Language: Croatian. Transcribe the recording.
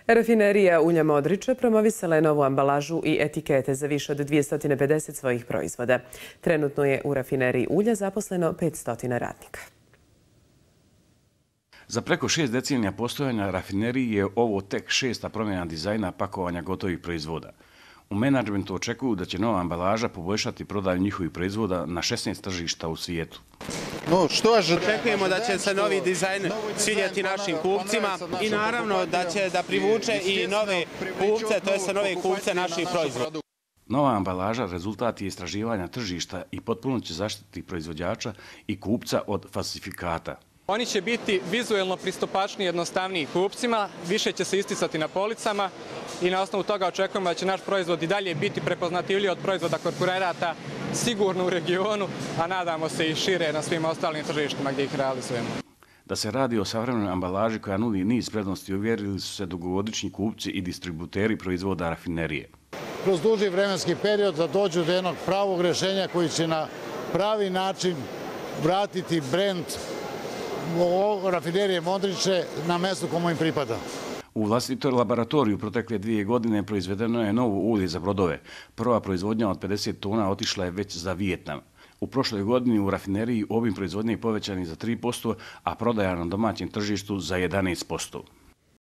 Rafinerija ulja Modriče promovisala je novu ambalažu i etikete za više od 250 svojih proizvoda. Trenutno je u rafineriji ulja zaposleno 500 radnika. Za preko 6 decenija postojanja rafineriji je ovo tek 6. promjena dizajna pakovanja gotovih proizvoda. U menadžmentu očekuju da će nova ambalaža poboljšati prodaju njihovih proizvoda na 16 tržišta u svijetu. Očekujemo da će se novi dizajn svidjeti našim kupcima i naravno da će da privuče i nove kupce, to je nove kupce naših proizvoda. Nova ambalaža rezultat je istraživanja tržišta i potpuno će zaštititi proizvođača i kupca od falsifikata. Oni će biti vizuelno pristupačniji i jednostavniji kupcima, više će se isticati na policama i na osnovu toga očekujemo da će naš proizvod i dalje biti prepoznatljiv od proizvoda konkurenata sigurno u regionu, a nadamo se i šire na svim ostalim tržištima gdje ih realizujemo. Da se radi o savremenoj ambalaži koja nudi niz prednosti, uvjerili su se dugogodišnji kupci i distributeri proizvoda rafinerije. Kroz duži vremenski period da dođu do jednog pravog rješenja koji će na pravi način vratiti brend rafinerije Modriče na mjestu komu im pripada. U vlastitoj laboratoriju protekle 2 godine proizvedeno je novo ulje za brodove. Prva proizvodnja od 50 tona otišla je već za Vijetnam. U prošloj godini u rafineriji obim proizvodnje je povećan za 3%, a prodaja na domaćem tržištu za 11%.